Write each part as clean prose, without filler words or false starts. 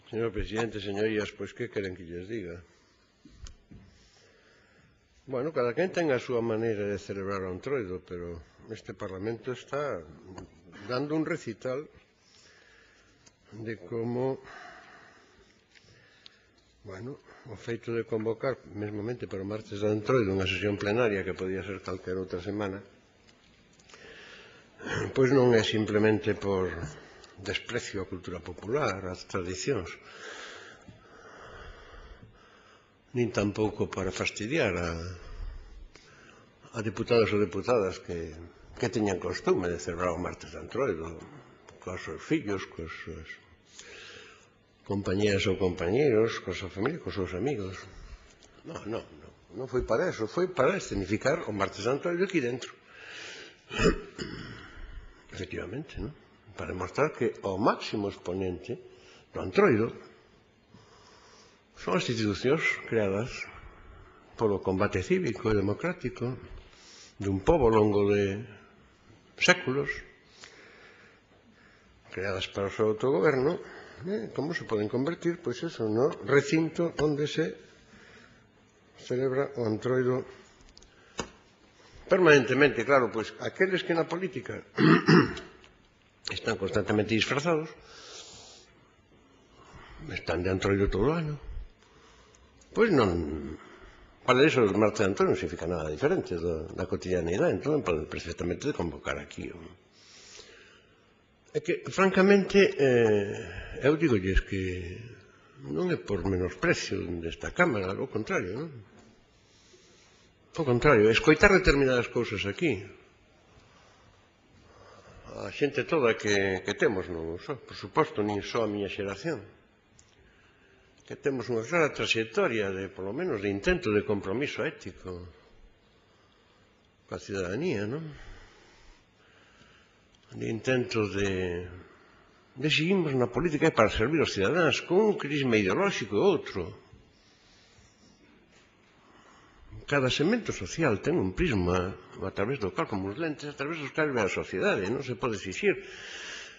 Señor presidente, señorías, pois que queren que lles diga? Bueno, cada quen ten a súa maneira de celebrar o Entroido, pero este Parlamento está dando un recital de como, bueno, o feito de convocar mesmamente para o martes do Entroido unha sesión plenaria que podía ser calquera outra semana, pois non é simplemente por desprecio á cultura popular, ás tradicións, nin tampouco para fastidiar a deputados ou deputadas que teñan costume de celebrar o martes de Entroido cos seus fillos, cos seus compañeras ou compañeros, coa súa familia, cos seus amigos. Non foi para eso, foi para escenificar o martes de Entroido aquí dentro. Efectivamente, non? Para demostrar que o máximo exponente do Entroido son as institucións creadas polo combate cívico e democrático dun pobo ao longo de séculos, creadas para o seu autogoberno, como se poden convertir, pois eso, no recinto onde se celebra o Entroido permanentemente. Claro, pois aqueles que na política están constantemente disfrazados, están de Entroido todo o ano, pois non, para iso o martes de Entroido non significa nada diferente da cotidianidade, entón poden perfectamente convocar aquí. É que, francamente, eu digolles que non é por menosprecio desta Cámara, ao contrario, non? Ao contrario, escoitar determinadas cousas aquí, a xente toda que temos, non só, por suposto, nin só a miña xeración, que temos unha clara trayectoria de, polo menos, de intento de compromiso ético coa cidadanía, non? De intento de seguimos na política para servir aos cidadáns con un crisma ideolóxico e outro. Cada segmento social ten un prisma a través do cal, como os lentes, a través dos cal ve a sociedade. Non se pode exixir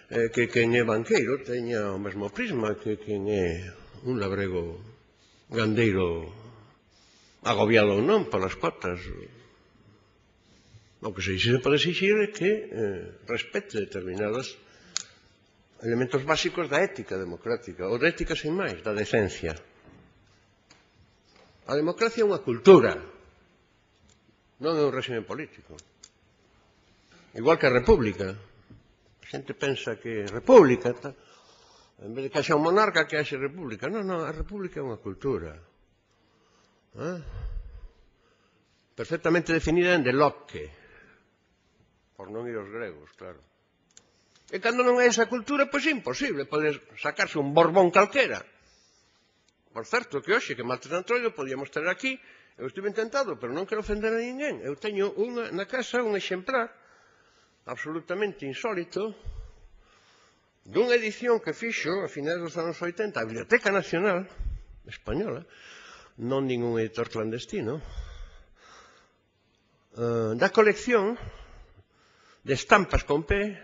que quen é banqueiro teña o mesmo prisma que quen é un labrego gandeiro agobiado ou non polas cotas. O que se pode exixir é que respete determinados elementos básicos da ética democrática, ou da ética sin máis, da decencia. A democracia é unha cultura, non é un réxime político. Igual que a república. A xente pensa que república, en vez de que haxa un monarca, que haxe república. Non, a república é unha cultura. Perfectamente definida en de Locke, por non ir aos gregos, claro. E cando non é esa cultura, pois é imposible poder sacarse un Borbón calquera. Por certo, que hoxe, que martes de Entroido, podíamos ter aquí, eu estive intentado, pero non quero ofender a ninguén. Eu teño na casa un exemplar absolutamente insólito dunha edición que fixo a finais dos anos 80 a Biblioteca Nacional Española, non ningún editor clandestino, da colección de estampas con P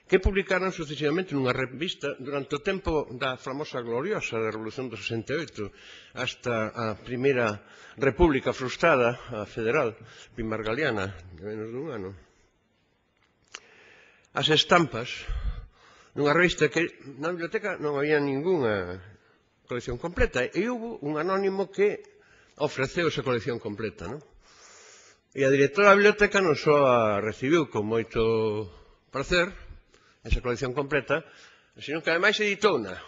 que publicaron sucesivamente nunha revista durante o tempo da famosa gloriosa da Revolución do 68 hasta a primeira república frustrada, a federal, pimargaliana, de menos dun ano. As estampas, nunha revista que na biblioteca non había ningunha colección completa, e houve un anónimo que ofreceu esa colección completa, non? E a directora da biblioteca non só a recibiu con moito prazer, esa colección completa, sino que ademais editouna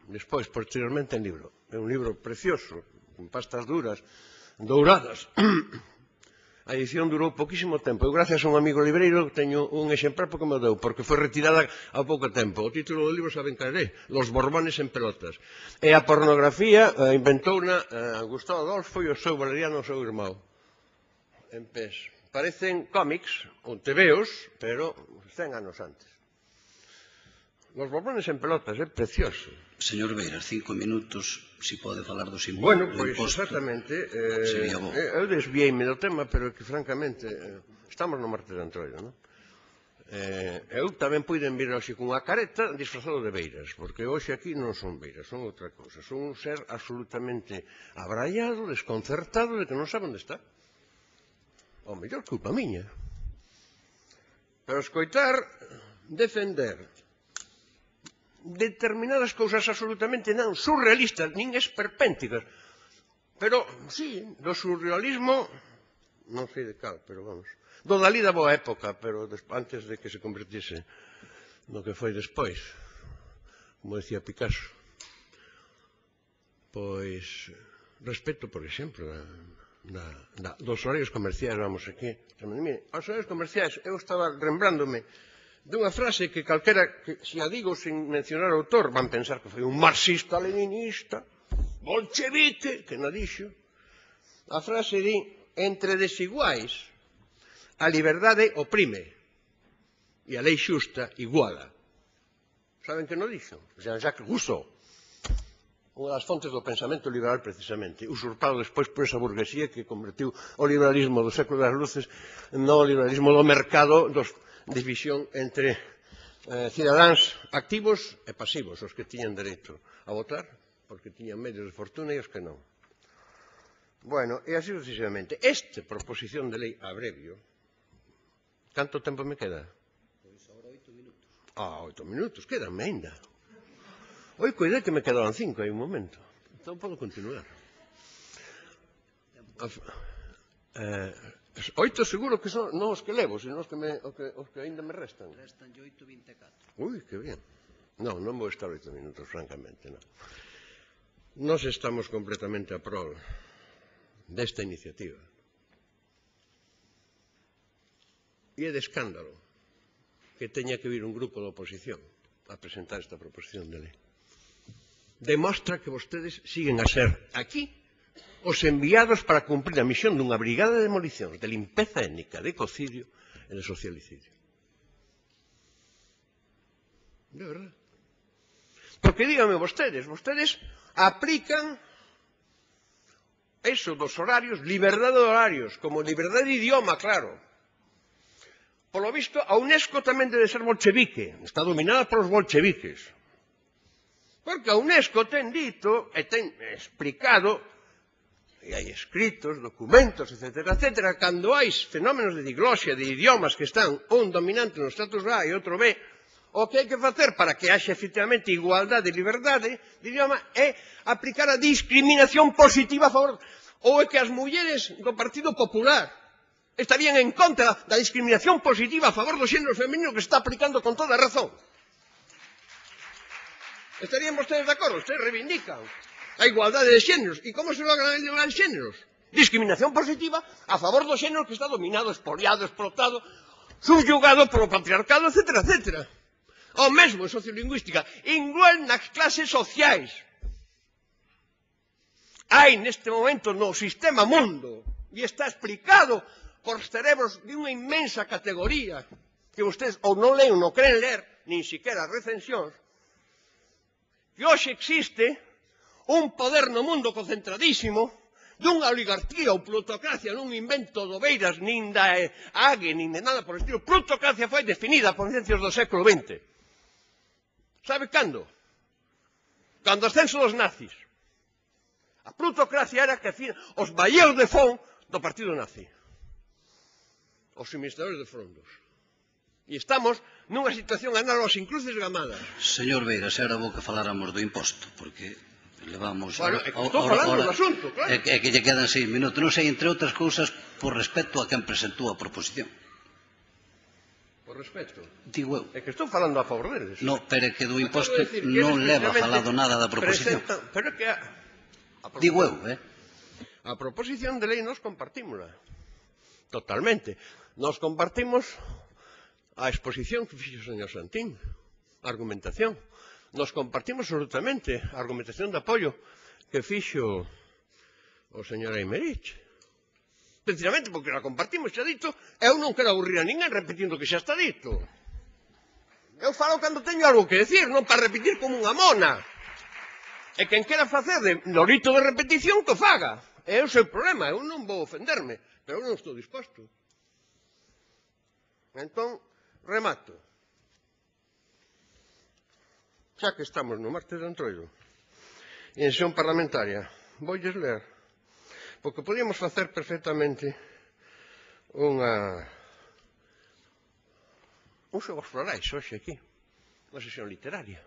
despois, posteriormente, en libro. É un libro precioso, con pastas duras, douradas. A edición durou poquísimo tempo. Eu, gracias a un amigo libreiro, teño un exemplar porque me deu, porque foi retirada ao pouco tempo. O título do libro saben cal é, Los Borbones en pelotas. E a pornografía inventouna Gustavo Adolfo e o seu Valeriano, o seu irmão, en pés. Parecen cómics ou tebeos, pero 100 anos antes. Los Borbones en pelotas, é precioso. Señor Beiras, 5 minutos, si pode falar dos impostos. Bueno, pois exactamente, eu desviei-me do tema, pero que francamente estamos no martes de Entroido, non? Eu tamén puiden vir hoxe cunha careta disfrazado de beiras, porque hoxe aquí non son beiras, son outra cousa. Son un ser absolutamente abraiado, desconcertado, de que non sabe onde está. O mellor culpa miña. Pero escoitar, defender determinadas cousas absolutamente non surrealistas, nin esperpénticas, pero, sí, do surrealismo, non sei de cal, pero vamos, do Dalí da boa época, pero antes de que se convertise no que foi despois, como decía Picasso. Pois, respecto, por exemplo, dos horarios comerciais, vamos aquí. Os horarios comerciais, eu estaba lembrándome dunha frase que calquera, que se a digo sin mencionar o autor, van pensar que foi un marxista-leninista, bolchevique, que non dixo. A frase di, entre desiguais, a liberdade oprime e a lei xusta iguala. Saben que non dixo? Jean-Jacques Rousseau, unha das fontes do pensamento liberal precisamente, usurpado despois por esa burguesía que convertiu o liberalismo do século das luces no liberalismo do mercado, dos división entre cidadáns activos e pasivos, os que tiñan dereito a votar, porque tiñan medios de fortuna e os que non. Bueno, e así sucesivamente. Esta proposición de lei abrevio, canto tempo me queda? Pois agora 8 minutos. 8 minutos, quedanme ainda. Oi, coidei que me quedaban 5 hai un momento. Entón podo continuar. 8 seguro que son non os que levo, sino os que ainda me restan. Restan 8:24. Ui, que bien. Non vou estar 8 minutos, francamente, non. Nós estamos completamente a prol desta iniciativa. E é de escándalo que teña que vir un grupo de oposición a presentar esta proposición de lei. Demostra que vostedes siguen a ser aquí os enviados para cumprir a misión dunha brigada de demolicións, de limpeza étnica, de ecocidio e de socialicidio. De verdade. Porque díganme vostedes aplican eso dos horarios, liberdade de horarios, como liberdade de idioma, claro. Polo visto, a UNESCO tamén debe ser bolchevique, está dominada polos bolcheviques. Porque a UNESCO ten dito e ten explicado, e hai escritos, documentos, etc., cando hai fenómenos de diglosia, de idiomas que están un dominante no status A e outro B, o que hai que facer para que haxa efectivamente igualdade e liberdade de idioma é aplicar a discriminación positiva a favor, ou é que as mulleres do Partido Popular estarían en contra da discriminación positiva a favor do xénero femenino que se está aplicando con toda razón. Estarían vostedes de acordo? Ustedes reivindican a igualdade de xéneros. E como se logra a igualdade de xéneros? Discriminación positiva a favor do xénero que está dominado, expoliado, explotado, subyugado polo patriarcado, etc. O mesmo en sociolingüística, igual nas clases sociais. Hai neste momento no sistema mundo, e está explicado por cerebros de unha inmensa categoría, que vostedes ou non leen ou non queren ler, nin siquiera as recensións, que hoxe existe un poder no mundo concentradísimo dunha oligarquía ou plutocracia non invento do Beiras, nin da Hague, nin de nada por estilo. Plutocracia foi definida por ciencias do século XX. Sabe cando? Cando ascenso dos nazis. A plutocracia era que os valleos de fond do partido nazi. Os suministradores de fondos. E estamos nunha situación análoga sin cruces gamadas. Señor Beiras, era bo que faláramos do imposto, porque levamos... Bueno, é que estou falando do asunto, claro. É que lle quedan 6 minutos. Non sei, entre outras cousas, por respecto a quen presentou a proposición. Por respecto. Digo eu. É que estou falando a favor deles. No, pero é que do imposto non leva falado nada da proposición. Pero é que Digo eu, a proposición de lei nos compartímola. Totalmente. Nos compartimos a exposición que fixo o señor Santín, a argumentación. Nos compartimos absolutamente a argumentación de apoio que fixo o señor Aymerich. Precisamente porque la compartimos, xa dito, eu non quero aburrir a ninguén repetindo que xa está dito. Eu falo cando teño algo que decir, non para repetir como unha mona. E quen quera facer de lorito de repetición, que faga. É o seu problema, eu non vou ofenderme, pero eu non estou disposto. Entón, Remato. Xa que estamos no martes de Entroido e en sesión parlamentaria, voulles ler, porque podíamos facer perfectamente uns xogos florais hoxe aquí, unha sesión literaria.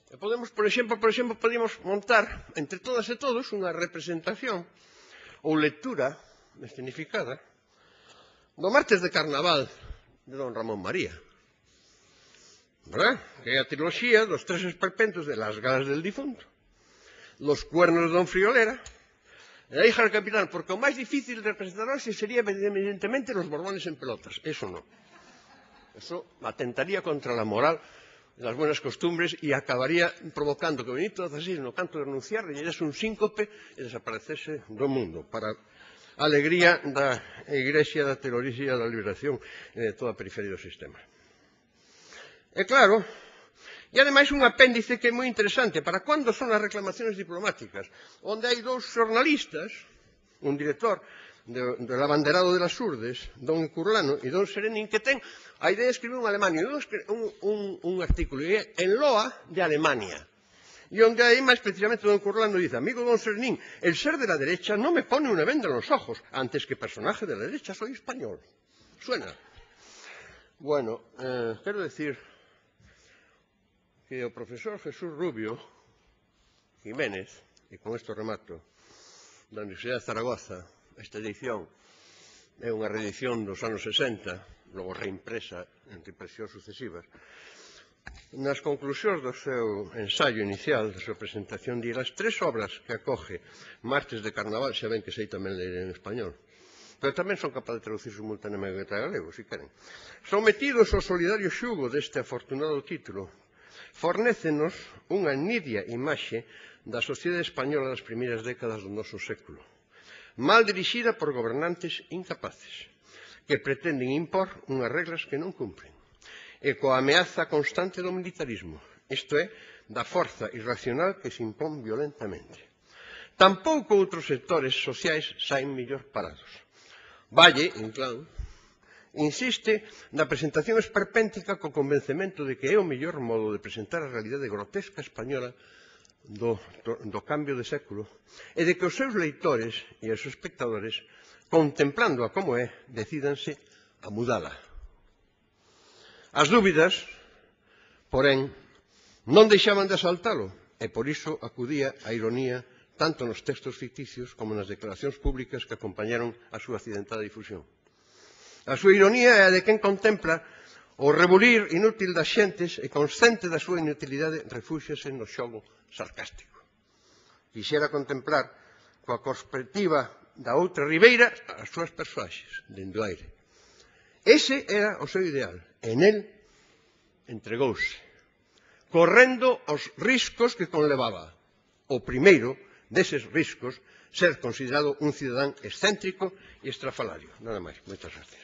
E podemos, por exemplo, podíamos montar entre todas e todos unha representación ou lectura escenificada do martes de Carnaval de don Ramón María, ¿verdad? Que é a triloxía dos tres esperpentos de Las galas del difunto, Los cuernos de don Friolera e a hija del capitán, porque o máis difícil de representar hoxe sería evidentemente los borbones en pelotas. Eso no. Eso atentaría contra la moral e las buenas costumbres e acabaría provocando que Benito XVI no canto de renunciar lle diese un síncope e desaparecese do mundo para a alegría da Igrexa da Teoloxía da Liberación e de toda a periferia do sistema. E claro, e ademais un apéndice que é moi interesante para cando son as reclamacións diplomáticas, onde hai dous xornalistas, un director del abanderado de las Urdes, don Curlano e don Serenín, que ten a idea de escribir un Alemania, un artículo en loa de Alemania, y onde aí máis precisamente don Curlano dice: amigo don Serenín, el ser de la derecha no me pone una venda en los ojos, antes que personaje de la derecha soy español. Suena. Bueno, quero decir que o profesor Jesús Rubio Jiménez, e con isto remato, da Universidade de Zaragoza, esta edición é unha reedición dos anos 60, logo reimpresa en reimpresións sucesivas. Nas conclusións do seu ensaio inicial, da súa presentación, di as tres obras que acoge Martes de Carnaval, xa ven que sei tamén ler en español, pero tamén son capaz de traducir simultaneamente a galego, se queren. Sometidos ao solidario xugo deste afortunado título, fornécenos unha nidia imaxe da sociedade española das primeiras décadas do noso século, mal dirixida por gobernantes incapaces, que pretenden impor unhas reglas que non cumpren, e coa ameaza constante do militarismo, isto é, da forza irracional que se impón violentamente. Tampouco outros sectores sociais saen mellor parados. Valle, Inclán, insiste na presentación esperpéntica co convencemento de que é o mellor modo de presentar a realidade grotesca española do cambio de século e de que os seus leitores e os espectadores, contemplándoa como é, decídanse a mudala. As dúbidas, porén, non deixaban de asaltalo e por iso acudía a ironía tanto nos textos ficticios como nas declaracións públicas que acompañaron a súa accidentada difusión. A súa ironía é a de quen contempla o rebulir inútil das xentes e consciente da súa inutilidade refúxiase no xogo sarcástico. Quixera contemplar coa perspectiva da outra ribeira as súas persoaxes, dende o aire. Ese era o seu ideal, e nel entregouse, correndo os riscos que conlevaba. O primeiro deses riscos, ser considerado un cidadán excéntrico e estrafalario. Nada máis. Moitas gracias.